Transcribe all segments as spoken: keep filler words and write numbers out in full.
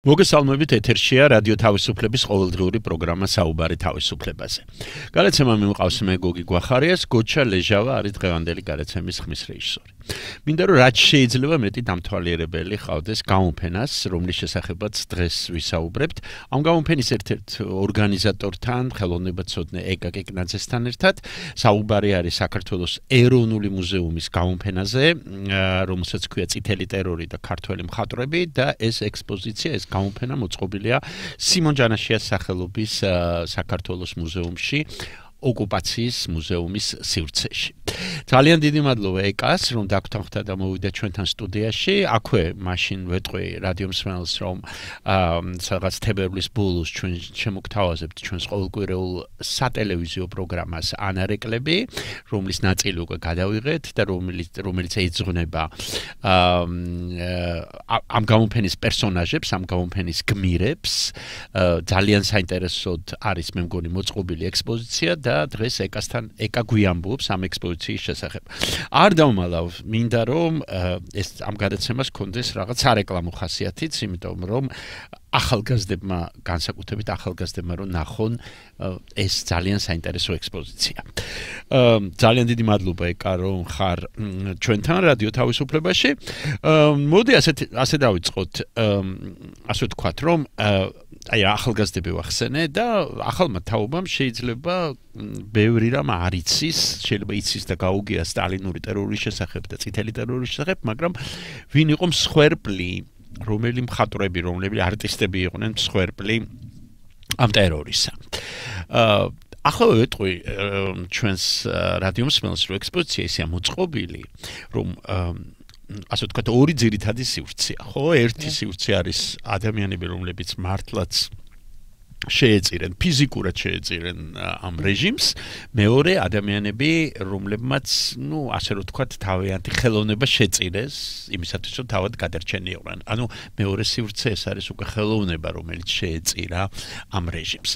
მოგესალმებით ეთერშია რადიო თავისუფლების ყოველდღიური პროგრამა საუბარი თავისუფლებაზე. Გადაცემა მიმყავს მე გოგი გვახარიას, გოჩა ლეჟავა არის დღევანდელი გადაცემის ხმის რეჟისორი. მინდა რომ რაც შეიძლება მეტი დამთვალიერებელი ყავდეს გამოფენას, რომლის შესახებაც დღეს ვისაუბრებთ. ამ გამოფენის ერთ-ერთ ორგანიზატორთან, ხელოვნებაცოდნე ეკა კეკნაძესთან ერთად საუბარი არის საქართველოს ეროვნული მუზეუმის გამოფენაზე, რომელსაც ქვია წითელი ტერორი და ქართველი მხატვრები და ეს ექსპოზიცია ეს გამოფენა მოწყობილია სიმონ ჯანაშიას სახელობის საქართველოს მუზეუმში, ოკუპაციის მუზეუმის სივრცეში. ძალიან დიდი მადლობა ეკას, რომ დაგვთანხმდა და მოვიდა ჩვენთან სტუდიაში. აქვე მაშინ ვეტყვი რადიო მსმენელს, რომ სადღაც თებერვლის ბოლოს ჩვენ შემოგთავაზებთ ჩვენს ყოველკვირეულ სატელევიზიო პროგრამას ანარეკლები, რომლის ნაწილი უკვე გადავიღეთ და რომელიც რომელიც ეძღვნება ამ გამოფენის პერსონაჟებს, ამ გამოფენის გმირებს. ძალიან საინტერესოდ არის მე მგონი მოწყობილი ექსპოზიცია და დღეს ეკასთან ეკა გვიამბობს ამ ექსპოზიციის შესახებ. არ დავმალავ, მინდა რომ ეს ამ გადაცემას კონდეს რაღაც სარეკლამო ხასიათიც, იმიტომ რომ ახალგაზრდებმა, განსაკუთრებით ახალგაზრდებმა რომ ნახონ ეს ძალიან საინტერესო ექსპოზიცია. ძალიან დიდი მადლობა ეკა რომ ხარ ჩვენთან რადიო თავისუფლებაში. მოდი ასე ასე დავიწყოთ, ასე ვთქვათ, რომ აი ახალგაზრდები ვახსენე და ახალმა თაობამ შეიძლება ბევრი რამ არ იცის, შეიძლება იცის და გაუგია სტალინური ტერორის შესახებ და წითელი ტერორის შესახებ, მაგრამ ვინ იყო მსხვერპლი, რომელი მხატვრები, რომელი არტისტები იყვნენ მსხვერპლი ამ ტერორისა. ახლა ვეტყვი ჩვენს რადიო მსმენელს, რომ ექსპოზიცია ისეა მოწყობილი, რომ ასე ვთქვათ, ორი ძირითადი სივრცეა, ხო? ერთი სივრცე არის ადამიანები, რომლებიც მართლაც შეეწირენ, ფიზიკურად შეეწირენ ამ რეჟიმს, მეორე ადამიანები, რომლებმაც, ну, ასე რომ ვთქვათ, თავიანთი ხელოვნება შეწირეს, იმისათვის, რომ თავად გადარჩენილიყვნენ. ანუ მეორე სივრცე ეს არის უკვე ხელოვნება, რომელიც შეეწირა ამ რეჟიმს.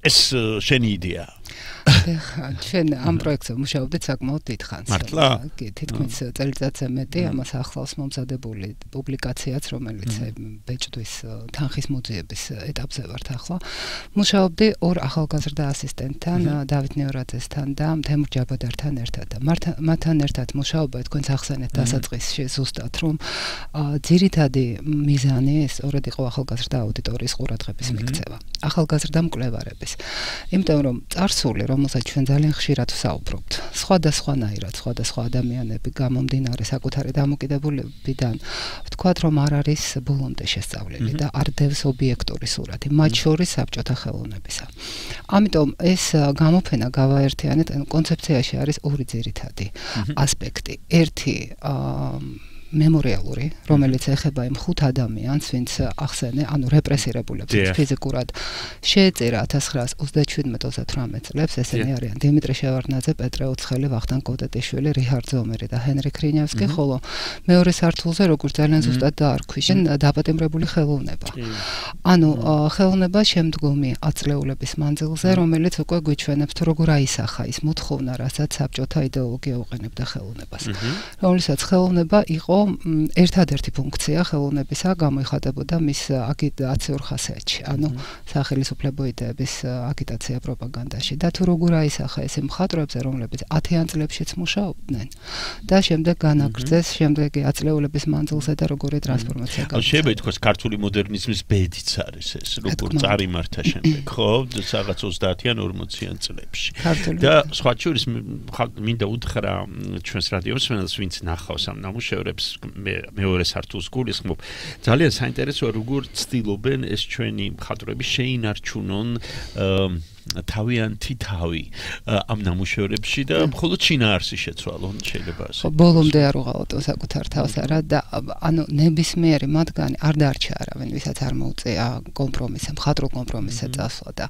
ეს შენი იდეაა. ჩვენ ამ პროექტზე მუშაობდით საკმაოდ დიდხანს. მართლა? კი, თითქმის წელიწადზე მეტი, ამას ახლავს მომზადებული პუბლიკაციაც, რომელიც ბეჭდვის თანხის მოძიების ეტაპზე ვართ ახლა. მუშაობდი ორ ახალგაზრდა ასისტენტთან, დავით ნევრაძესთან და თემურ ჯაბადართან ერთად. მათთან ერთად მუშაობა თქვენს ახსენეთ დასაწყისში ზუსტად, რომ ძირითადი მიზანი სწორედ იყო ახალგაზრდა აუდიტორიის ყურადღების მიქცევა, ახალგაზრდა მკვლევარების. იმიტომ რომ წარსული, რომელსაც ჩვენ ძალიან ხშირად ვსაუბრობთ, სხვადასხვანაირად, სხვადასხვა ადამიანები გამომდინარე საკუთარი დამოკიდებულებიდან, ვთქვათ, რომ არ არის ბოლომდე შესწავლილი და არ დევს ობიექტური სურათი, მათ შორის საბჭოთა ხელოვნებისა. ამიტომ ეს გამოფენა გავაერთიანეთ, კონცეფციაში არის ორი ძირითადი ასპექტი. ერთი მემორიალური, რომელიც ეხება იმ ხუთ ადამიანს, ვინც ახსენე, ანუ რეპრესირებულებს ფიზიკურად შეეწირა ათას ცხრაას ოცდაშვიდმეტ ოცდათვრამეტ წლებს, ესენი არიან დიმიტრი შევარდნაძე, პეტრე ოცხელი, ვახტანგ კოტეტიშვილი, რიჰარდ ზომერი და ჰენრი ქრინიევსკი, ხოლო მეორე სართულზე, როგორც ძალიან ზუსტად დაარქვიშე, დაპატიმრებული ხელოვნება. ანუ ხელოვნება შემდგომი აწლეულების მანძილზე, რომელიც უკვე გვიჩვენებს თუ როგორ აისახა ის მოთხოვნა, რასაც საბჭოთა იდეოლოგია უყენებდა ხელოვნებას. რომლითაც ხელოვნება იყო ერთადერთი ფუნქცია ხელოვნებისა გამოიხატებოდა მის აგიტაციურ ხასიათში, ანუ სახელმწიფო იდეების აგიტაცია პროპაგანდაში და თუ როგორ აისახა ეს მხატვრებზე, რომლებიც ათიან წლებშიც მუშაობდნენ და შემდეგ განაგრძეს შემდეგი აწლეულების მანძილზე და როგორი ტრანსფორმაცია გაჩაღდა. შეიძლება ითქვას ქართული მოდერნიზმის ბედიც არის ეს, როგორ წარიმართა შემდეგ, ხო? რაღაც ოცდაათიან ორმოციან წლებში. და სხვა შორის მინდა უთხრა ჩვენს რადიო მსმენელს, ვინც ნახავს ამ ნამუშევრებს, მეორე სართულს გულისხმობ. ძალიან საინტერესოა, როგორ ცდილობენ ეს ჩვენი მხატვრები შეინარჩუნონ თავიანთი თავი ამ ნამუშევრებში და მხოლოდ შინაარსი შეცვალონ შეიძლება ასე. ბოლომდე არ უღალატო საკუთარ თავს არა და ანუ ნებისმიერი მათგანი არ დარჩა არავინ, ვისაც არ მოუწია კომპრომისზე, მხატვრულ კომპრომისზე წასვლა და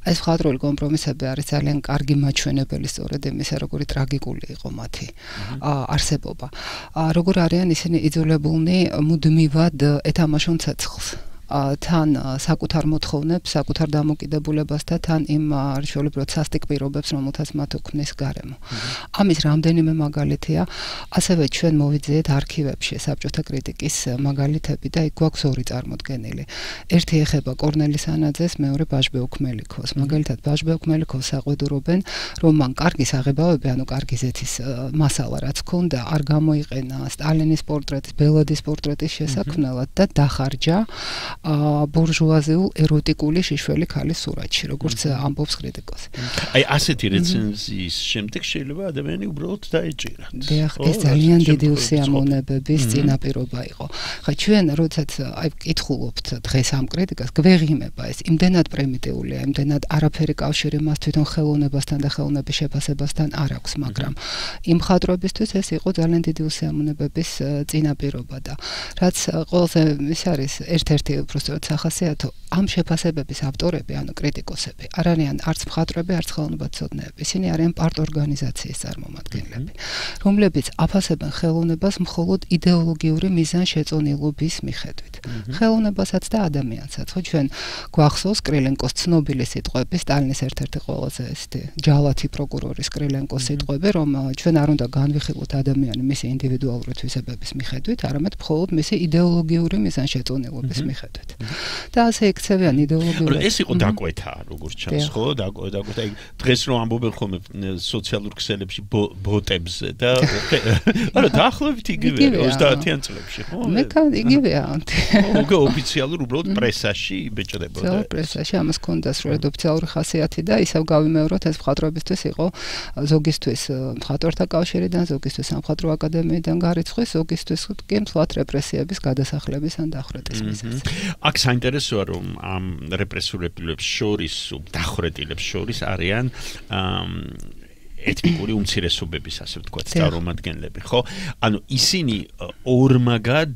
ეს მხატვრული კომპრომისები არის ძალიან კარგი მაჩვენებელი სწორედ იმისა, როგორი ტრაგიკული იყო მათი არსებობა. როგორ არიან ისინი იძულებულნი მუდმივად ეთამაშონ ცეცხლს. თან საკუთარ მოთხოვნებს, საკუთარ დამოკიდებულებას და თან იმ არჩეულებრივ სასტიკ პირობებს, რომელთაც მათ უქმნის გარემო. ამის რამდენიმე მაგალითია, ასევე ჩვენ მოვიძიეთ არქივებში საბჭოთა კრიტიკის მაგალითები და იქ გვაქვს ორი წარმოდგენილი. ერთი ეხება კორნელი სანაძეს, მეორე ბაჟბეუქ მელიქოს. მაგალითად ბაჟბეუქ მელიქოს საყვედურობენ, რომ მან კარგი საღებავები, ანუ კარგი ზეთის მასალა რაც ჰქონდა, არ გამოიყენა სტალინის პორტრეტის, ბელადის პორტრეტის შესაქმნელად და დახარჯა ბურჟუაზიულ ეროტიკული შიშველი ქალის სურათში, როგორც ამბობს კრიტიკოსი. აი ასეთი რეცენზიის შემდეგ შეიძლება ადამიანი უბრალოდ დაეჭირათ. დიახ, ეს ძალიან დიდი უსიამოვნებების წინაპირობა იყო. ხა ჩვენ როდესაც აი ვკითხულობთ დღეს ამ კრიტიკას, გვეღიმება ეს იმდენად პრიმიტიულია, იმდენად არაფერი კავშირი მას თვითონ ხელოვნებასთან და ხელოვნების შეფასებასთან არ აქვს, მაგრამ იმ მხატვრებისთვის ეს იყო ძალიან დიდი უსიამოვნებების წინაპირობა და რაც ყველაზე ის არის ერთ-ერთი უბრალოდ სახასიათო, ამ შეფასებების ავტორები, ანუ კრიტიკოსები, არ არიან არც მხატვრები, არც ხელოვნებაცოდნეები. ისინი არიან პარტ-ორგანიზაციის წარმომადგენლები, რომლებიც აფასებენ ხელოვნებას მხოლოდ იდეოლოგიური მიზანშეწონილობის მიხედვით. ხელოვნებასაც და ადამიანსაც. ხო ჩვენ გვახსოვს კრილენკოს ცნობილი სიტყვები, სტალინის ერთ-ერთი ყველაზე ესეთი ჯალათი პროკურორის კრილენკოს სიტყვები, რომ ჩვენ არ უნდა განვიხილოთ ადამიანი მისი ინდივიდუალური თვისებების მიხედვით, არამედ მხოლოდ მისი იდეოლოგიური მიზანშეწონილობის მიხედვით. და ასე იქცევიან იდეოლოგიური. ეს იყო დაკვეთა, როგორც ჩანს, ხო? დაკვეთა. დღეს რომ ამბობენ ხოლმე სოციალურ ქსელებში ბოტებზე და არა დაახლოებით იგივეა ოცდაათიან წლებში, ხო? მე იგივეა. ხო, ოფიციალურ უბრალოდ პრესაში იბეჭდებოდა. ოფიციალურ პრესაში ამას ჰქონდა სრულიად ოფიციალური ხასიათი და ისევ გავიმეოროთ ეს მხატვრებისთვის იყო ზოგისთვის მხატვართა კავშირიდან, ზოგისთვის სამხატვრო აკადემიიდან გარიცხვის, ზოგისთვის კი მსვლად რეპრესიების გადასახლების ან დახვრეტის მიზეზი. აქ საინტერესოა რომ ამ რეპრესირებულებს შორის, დახვრეტილებს შორის არიან ეთნიკური უმცირესობების, ასე ვთქვათ, წარმომადგენლები, ხო? ანუ ისინი ორმაგად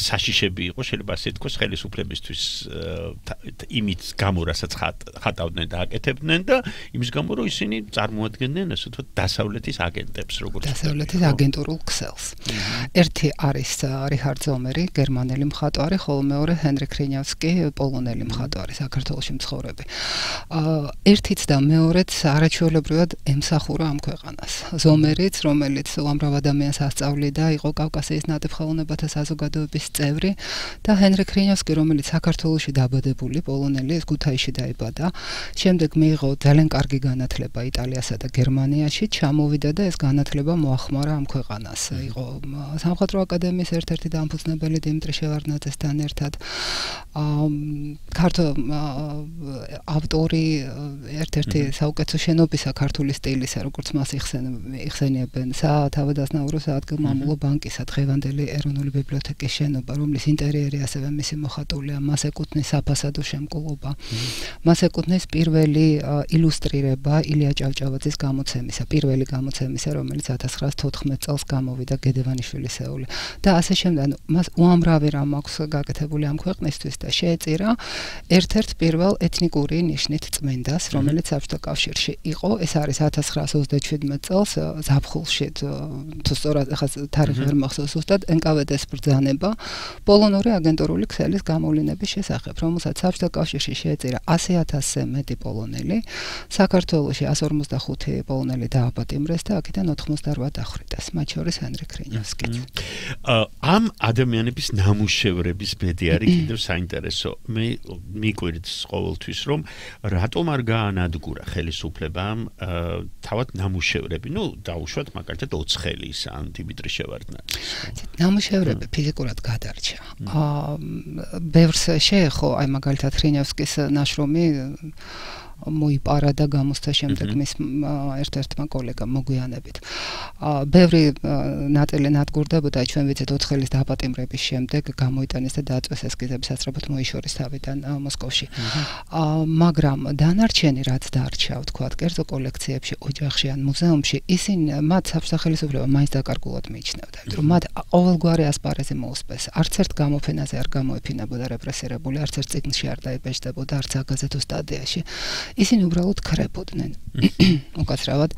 საშიშები იყო, შეიძლება ასე ვთქვას, ხელისუფლებისთვის იმით გამო, რასაც ხატავდნენ და აკეთებდნენ და იმის გამო, რომ ისინი წარმოადგენდნენ, ასე ვთქვათ, დასავლეთის აგენტებს, როგორც დასავლეთის აგენტურულ ქსელს. ერთი არის რიხარდ ზომერი, გერმანელი მხატვარი, ხოლო მეორე ჰენრიკ რინიავსკი, პოლონელი მხატვარი, საქართველოში მცხოვრები. ერთიც და მეორეც არაჩვეულებრივად ემსახურა ამ ქვეყანას. ზომერიც, რომელიც უამრავ ადამიანს ასწავლიდა, იყო კავკასიის ნატიფხელოვნებათა საზოგადოების წევრი და ჰენრიკ რინიავსკი, რომელიც საქართველოში დაბადებული პოლონელი, ეს ქუთაისში დაიბადა. შემდეგ მიიღო ძალიან კარგი განათლება იტალიასა და გერმანიაში, ჩამოვიდა და ეს განათლება მოახმარა ამ ქვეყანას. იყო სამხატვრო აკადემიის ერთ-ერთი დამფუძნებელი დიმიტრი შევარდნაძესთან ერთად. ქართო ავტორი ერთ-ერთი საუკეთესო შენობისა ქართული სტილისა, როგორც მას იხსენიებენ, სათავადაზნაურო საადგილმამულო ბანკისა, დღევანდელი ეროვნული ბიბლიოთეკის შენობა, რომლის ინტერიერი ასევე მისი მოხატულია, მას ეკუთვნის საფასადო შემკულობა. მას ეკუთვნის პირველი ილუსტრირება ილია ჭავჭავაძის გამოცემისა, პირველი გამოცემისა, რომელიც ათას ცხრაას თოთხმეტ წელს გამოვიდა გედევანიშვილისეული. და ასე შემდეგ, მას უამრავი რამ აქვს გაკეთებული ამ ქვეყნისთვის და შეეწირა ერთ-ერთ პირველ ეთნიკური ნიშნით წმენდას, რომელიც საბჭოთა კავშირში იყო. ეს არის ათას ცხრაას ოცდაშვიდმეტ წელს ზაფხულში, თუ სწორად ახლა თარიღი ვერ მახსოვს ზუსტად, ენ კა ვე დე-ს ბრძანება პოლონური აგენტურული ქსელის გამოვლინების შესახებ, რომელსაც საბჭოთა კავშირში შეეწირა ასი ათასზე მეტი პოლონელი, საქართველოში ასი ორმოცდახუთი პოლონელი დააპატიმრეს და აქედან ოთხმოცდაოთხ დახვრიტეს, მათ შორის ჰენრიკ რინიავსკიც. ამ ადამიანების ნამუშევრების ბედი არის კიდევ საინტერესო. მე მიკვირდს ყოველთვის, რომ რატომ არ გაანადგურა ხელისუფლებამ თავად ნამუშევრები, ну, დაუშვათ მაგალითად ოცხელის ან დიმიტრი შევარდნაძის. ნამუშევრები ფიზიკურად გადარჩა. ბევრს შეეხო, აი მაგალითად რინიავსკის ნაშრომი მოიპარა და გამოსცა შემდეგ მის ერთ-ერთმა კოლეგამ მოგვიანებით. ბევრი ნაწილი ნადგურდებოდა, ჩვენ ვიცით ოცხელის დაპატიმრების შემდეგ გამოიტანეს და დააწვეს ესკიზები სასწრაფოდ მოიშორის თავიდან მოსკოვში. მაგრამ დანარჩენი რაც დარჩა, ვთქვათ, კერძო კოლექციებში, ოჯახში ან მუზეუმში, ისინი მათ საბჭოთა ხელისუფლება მაინც დაკარგულად მიიჩნევდა, რომ მათ ყოველგვარი ასპარეზი მოუსპეს. არც ერთ გამოფენაზე არ გამოეფინებოდა რეპრესირებული, არც ერთ წიგნში არ დაიბეჭდებოდა, არც აგაზეთო სტადიაში. ისინი უბრალოდ ქრებოდნენ. უკაცრავად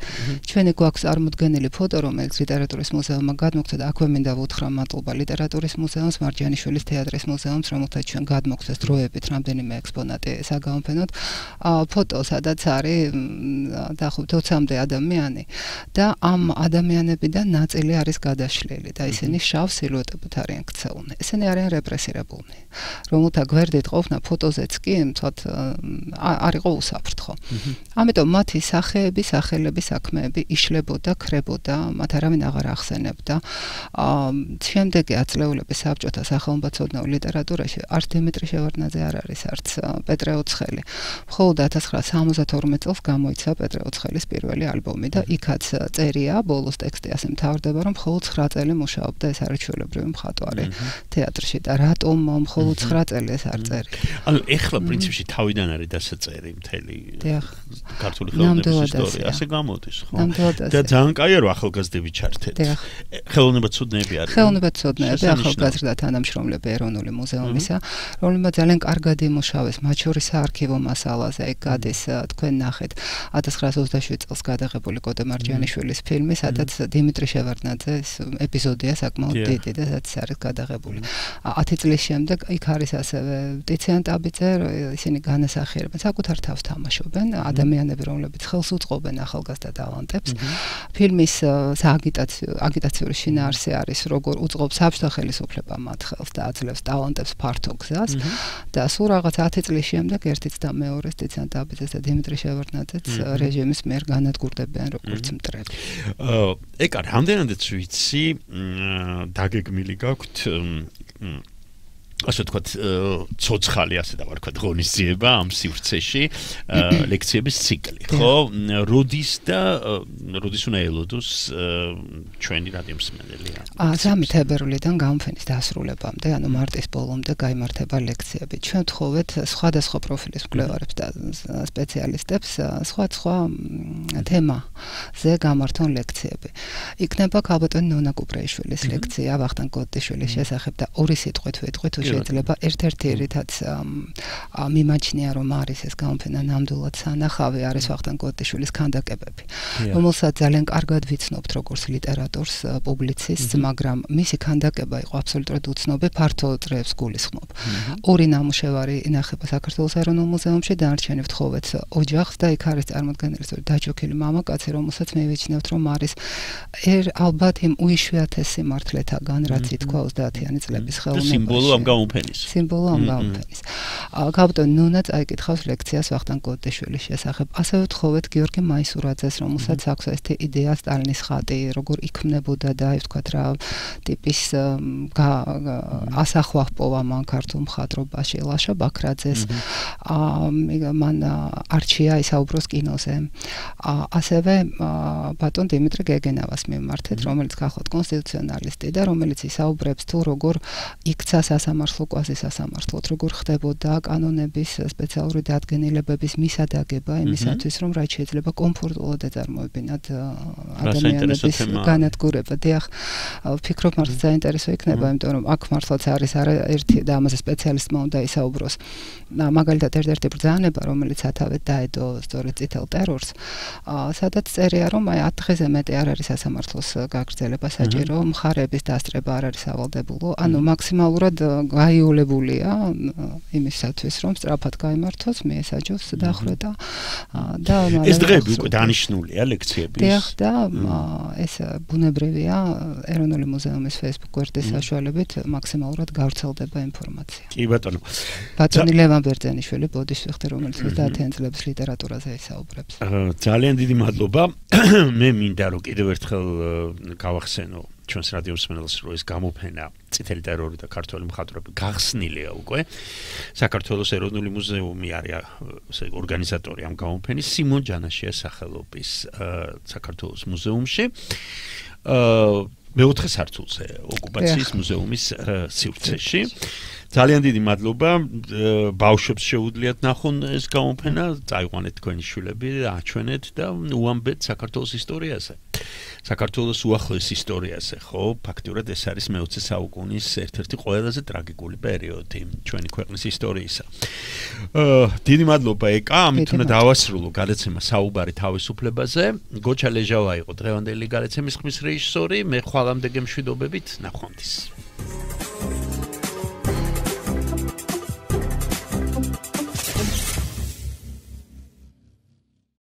ჩვენი გვაქვს წარმოდგენილი ფოტო, რომელიც ლიტერატურის მუზეუმმა გადმოგცა და აქვე მინდა ვუთხრა მადლობა ლიტერატურის მუზეუმს, მარჯანიშვილის თეატრის მუზეუმს, რომელთაც ჩვენ გადმოგცეს დროებით რამდენიმე ექსპონატი საგამოფენოდ. ფოტო, სადაც არის დაახლოებით ოცამდე ადამიანი და ამ ადამიანებიდან ნაწილი არის გადაშლილი და ისინი შავ სილუეტებით არიან ქცეულნი. ესენი არიან რეპრესირებულნი, რომელთა გვერდით ყოფნა ფოტოზეც კი თვათ არ იყო უსაფრთხო. ამიტომ მათი სახეები, სახელები, საქმეები იშლებოდა, ქრებოდა, მათ არავინ აღარ ახსენებდა. შემდეგი აწლეულების საბჭოთა სახელმწიფო ლიტერატურაში არც დიმიტრი შევარდნაძე არ არის, არც პეტრე ოცხელი. მხოლოდ ათას ცხრაასა სამოცდათორმეტ წელს გამოიცა პეტრე ოცხელის პირველი ალბომი და იქაც წერია, ბოლოს ტექსტი ასე მთავრდება, რომ მხოლოდ ცხრა წელი მუშაობდა ეს არის ჩვეულებრივი მხატვარი თეატრში და რატომ მხოლოდ ცხრა წელი ეს არ წერია. ანუ ეხლა პრინციპში თავიდან არის დასაწერი მთელი ქართული ხელოვნების ისტორია, ასე გამოდის, ხო? და ძალიან კაია რომ ახალგაზრდები ჩართეთ. ხელოვნებაცოდნეები არიან. ხელოვნებაცოდნეები, ახალგაზრდა თანამშრომლები ეროვნული მუზეუმისა, რომლებმაც ძალიან კარგად იმუშავეს, მათ შორის საარქივო მასალაზე, ეგ გადის თქვენ ნახეთ ათას ცხრაასა ოცდაშვიდ წელს გადაღებული კოტე მარჯანიშვილის ფილმი, სადაც დიმიტრი შევარდნაძეს ეპიზოდია საკმაოდ დიდი და სადაც არის გადაღებული. ათი წლის შემდეგ იქ არის ასევე ტიციან ტაბიძე, ისინი განასახიერებენ, საკუთარ თავს თამაშობენ, ადამიანები, რომლებიც ხელს უწყობენ ახალგაზრდა ტალანტებს. ფილმის სააგიტაციო აგიტაციური შინაარსი არის, როგორ უწყობს საბჭოთა ხელისუფლება მათ ხელს და აძლევს ტალანტებს ფართო გზას და სულ რაღაც ათი წლის შემდეგ ერთიც და მეორეს ტიციან ტაბიძეს და დიმიტრი შევარდნაძეც რეჟიმის მიერ განადგურდებიან როგორც მტრები. ეგ არ რამდენადაც ვიცი, დაგეგმილი გაქვთ ასე თქვათ, ცოცხალი ასე დავარქვათ ღონისძიება ამ სივრცეში, ლექციების ციკლი, ხო? როდის და როდის უნდა ელოდოს ჩვენი რადიო მსმენელი? სამი თებერვლიდან გამოფენის დასრულებამდე, ანუ მარტის ბოლომდე გაიმართება ლექციები. ჩვენ ვთხოვეთ სხვადასხვა პროფილის მკვლევარებს და სპეციალისტებს სხვადასხვა თემაზე გამართონ ლექციები. იქნება ქალბატონი ნონა კუპრეიშვილის ლექცია ვახტანგ გოდიშვილის შესახებ და ორი სიტყვით ვიტყვით შეიძლება ერთ-ერთი რითაც მიმაჩნია რომ არის ეს გამოფენა ნამდვილად სანახავი არის ვახტანგ გოდიშვილის ქანდაკებები, რომელსაც ძალიან კარგად ვიცნობთ როგორც ლიტერატორს, პუბლიცისტს, მაგრამ მისი ქანდაკება იყო აბსოლუტურად უცნობი, ფართო წრეებს გულისხმობ. ორი ნამუშევარი ინახება საქართველოს ეროვნულ მუზეუმში, დანარჩენი ვთხოვეთ ოჯახს და იქ არის წარმოდგენილი დაჯოქილი მამაკაცი, რომელსაც მივიჩნევთ რომ არის ალბათ იმ უიშვიათეს სიმართლეთაგან, რაც ითქვა ოცდაათიანი წლების ხელოვნებაში. სიმბოლო ამ გამოფენის. სიმბოლო ამ გამოფენის. ქალბატონი ნონა წაიკითხავს ლექციას ვახტანგ გოდიშვილის შესახებ. ასევე ვთხოვეთ გიორგი მაისურაძეს, რომელსაც აქვს ესეთი იდეა სტალინის ხატი, როგორ იქმნებოდა და აი ვთქვათ რა ტიპის ასახვა ჰპოვა მან ქართულ მხატვრობაში, ლაშა ბაქრაძეს. მან არჩია ისაუბროს კინოზე. ასევე ბატონ დიმიტრი გეგენავას მიმართეთ, რომელიც გახლავთ კონსტიტუციონალისტი და რომელიც ისაუბრებს თუ როგორ იქცა სასამართლო კვაზისასამართლოდ, როგორ ხდებოდა კანონების სპეციალური დადგენილებების მისადაგება იმისათვის, რომ რაც შეიძლება კომფორტულად ეწარმოებინათ ადამიანების განადგურება. დიახ, ვფიქრობ მართლა საინტერესო იქნება, იმიტომ რომ აქ მართლაც არის ერთი და ამაზე სპეციალისტმა უნდა ისაუბროს. მაგალითად ერთ-ერთი ბრძანება, რომელიც სათავედ დაედო სწორედ წითელ ტერორს, სადაც წერია, რომ აი ათ დღეზე მეტი არ არის სასამართლოს გაგრძელება საჭირო, მხარეების დასწრება არ არის სავალდებულო, ანუ მაქსიმალურად გაიოლებულია იმისათვის, რომ სწრაფად გაიმართოს, მიესაჯოს დახვრეტა და ეს დღეები უკვე დანიშნულია ლექციების. დიახ, და ეს ბუნებრივია ეროვნული მუზეუმის Facebook გვერდის საშუალებით მაქსიმალურად გავრცელდება ინფორმაცია. კი ბატონო. ბატონი ლევან ბერძენიშვილი ბოდიშვიხტი, რომელიც ოცდაათიან წლების ლიტერატურაზე ისაუბრებს. ძალიან დიდი მადლობა. მე მინდა რომ კიდევ ერთხელ გავახსენო ჩვენს რადიო მსმენელს, რომ ეს გამოფენა წითელი ტერორი და ქართველი მხატვრები გახსნილია უკვე. საქართველოს ეროვნული მუზეუმი არის ესე ორგანიზატორი ამ გამოფენის, სიმონ ჯანაშიას სახელობის საქართველოს მუზეუმში. მეოთხე სართულზე ოკუპაციის მუზეუმის სივრცეში. ძალიან დიდი მადლობა. ბავშვებს შეუძლიათ ნახონ ეს გამოფენა, წაიყვანეთ თქვენი შვილები, აჩვენეთ და უამბეთ საქართველოს ისტორიაზე. საქართველოს უახლოეს ისტორიაზე, ხო? ფაქტურად ეს არის მეოცე საუკუნის ერთ-ერთი ყველაზე ტრაგიკული პერიოდი ჩვენი ქვეყნის ისტორიისა. აა დიდი მადლობა ეკა, ამით უნდა დავასრულო გადაცემა საუბარი თავისუფლებაზე. გოჩა ლეჟავა იყო დღევანდელი გადაცემის ხმის რეჟისორი, მე ხვალამდე გემშვიდობებით, ნახვამდის.